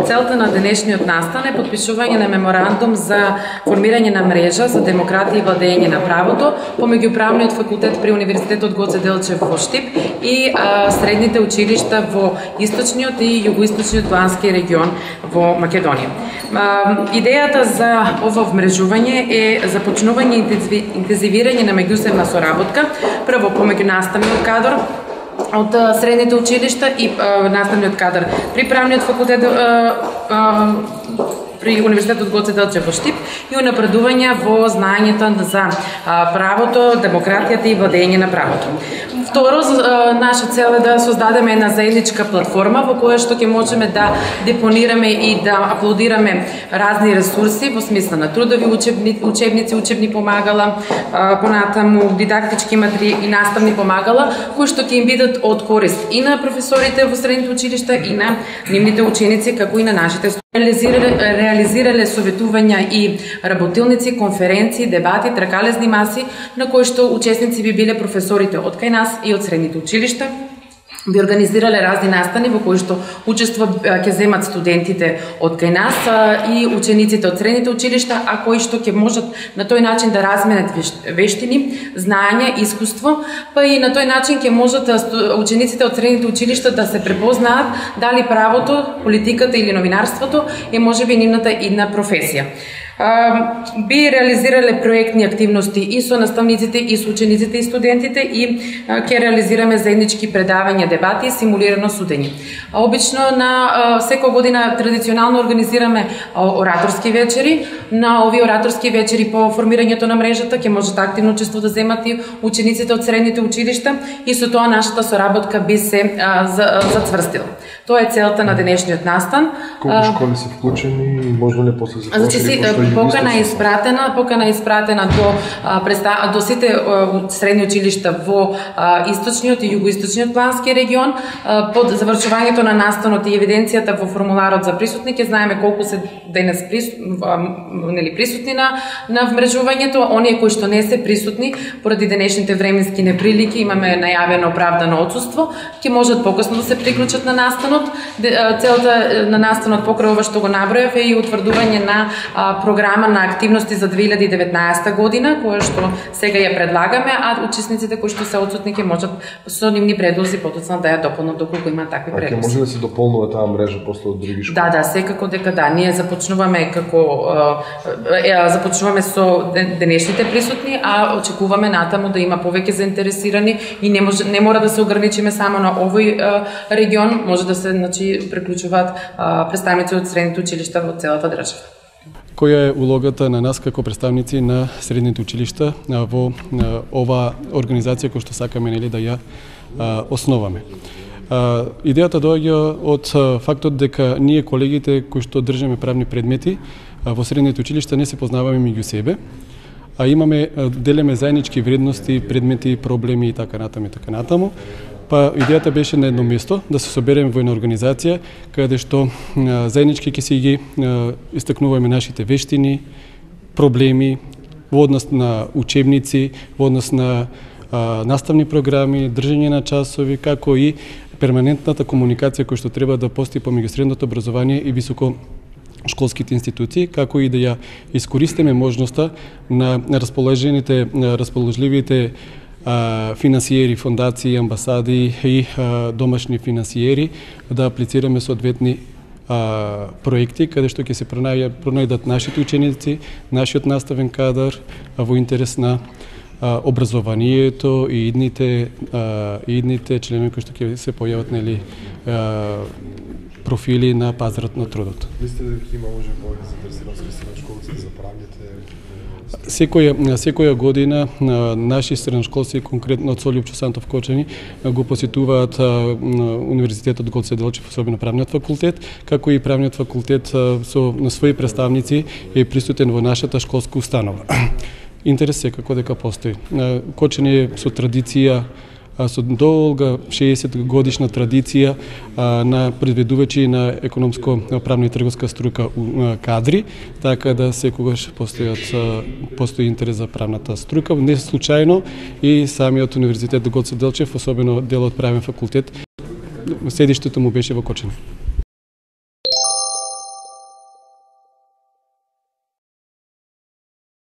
Целта на денешниот настан е подпишување на меморандум за формирање на мрежа за демократија и владење на правото помеѓу Правниот факултет при Универзитетот Гоце Делчев во Штип и средните училишта во источниот и југоисточниот плански регион во Македонија. Идејата за ова вмрежување е започнување и интензивирање на меѓусебна соработка, прво помеѓу наставниот кадар од средните училишта и наставниот кадар при Правниот факултет при Универзитетот Гоце Делчев во Штип и унапредување во знаењето за правото, демократијата и владење на правото. Второ, наша цел е да создадеме една заедничка платформа во која што ќе можеме да депонираме и да аплодираме разни ресурси во смисла на трудови учебници, учебни помагала, понатаму дидактички материјали и наставни помагала, кои што ќе им бидат од корист и на професорите во средните училишта и на нивните ученици, како и на нашите реализирале советувања и работилници, конференции, дебати, тркалезни маси, на кои што учесници би биле професорите од кај нас и од средните училишта. Би организирале разни настани во кои што учество ќе земат студентите од кај нас и учениците од средните училишта, а кои што ќе можат на тој начин да разменат вештини, знаење, искуство, па и на тој начин ќе можат учениците од средните училишта да се препознаат дали правото, политиката или новинарството е можеби нивната идна професија. Би реализирале проектни активности и со наставниците, и со учениците и студентите и ќе реализираме заеднички предавања, дебати и симулирано судење. Обично на секоја година традиционално организираме ораторски вечери. На овие ораторски вечери по формирањето на мрежата ќе можат активно учество да земат и учениците од средните училишта и со тоа нашата соработка би се зацврстила. Тоа е целта на денешниот настан. Колку школи се вклучени и можно ли после за покана е испратена до сите средни училишта во источниот и југоисточниот плански регион. Под завршувањето на настанот и евиденцијата во формуларот за присутни ќе знаеме колку се денес присутни на вмрежувањето. Оние кои што не се присутни поради денешните временски неприлики, имаме најавено оправдано отсуство, ќе можат покасно да се приклучат на настанот. Целта на настанот покрај ова што го набројав е и утврдување на програма на активности за 2019 година, која што сега ја предлагаме, а учесниците кои што се отсутни ќе можат со нивни предлози потоцна да ја дополнат доколку има такви предлози. Ќе може да се дополнува таа мрежа после од други школи? Да, секако дека да. Ние започнуваме со денешните присутни, а очекуваме натаму да има повеќе заинтересирани и не мора да се ограничиме само на овој регион, може да се приклучуваат представници од средните училишта во целата држава. Која е улогата на нас како представници на средните училишта во ова организација која што сакаме да ја основаме? Идејата доаѓа од фактот дека ние колегите кои што држиме правни предмети во средните училишта не се познаваме меѓу себе, а делиме заеднички вредности, предмети, проблеми и така натаму. Па идејата беше на едно место да се собереме во една организација каде што заеднички ќе си ги истакнуваме нашите вештини, проблеми во однос на учебници, во однос на наставни програми, држење на часови, како и перманентната комуникација која што треба да постои помеѓу средното образование и високошколските институции, како и да ја искористиме можноста на расположливите финансиери, фондации, амбасади и домашни финансиери да аплицираме соодветни проекти каде што ќе се пронајдат нашите ученици, нашиот наставен кадар во интерес на образованието и идните членови кои што ќе се појават профили на пазарот на трудот. Мислите дека има може повеќе заинтересираност на школци за правните? Секоја година наши средношколци, конкретно од Солјупчо Сантов Кочани, го посетуваат Универзитетот Гоце Делчев, особено Правниот факултет, како и Правниот факултет на своји представници е присутен во нашата школска установа. Интерес секако дека постои. Кочани е со традиција, со долга 60 годишна традиција на предведувачи на економско-правна и трговска струка кадри, така да секогаш постои интерес за правната струка. Не случајно и самиот Универзитет Гоце Делчев, особено дел од Правен факултет, седиштето му беше во Кочани.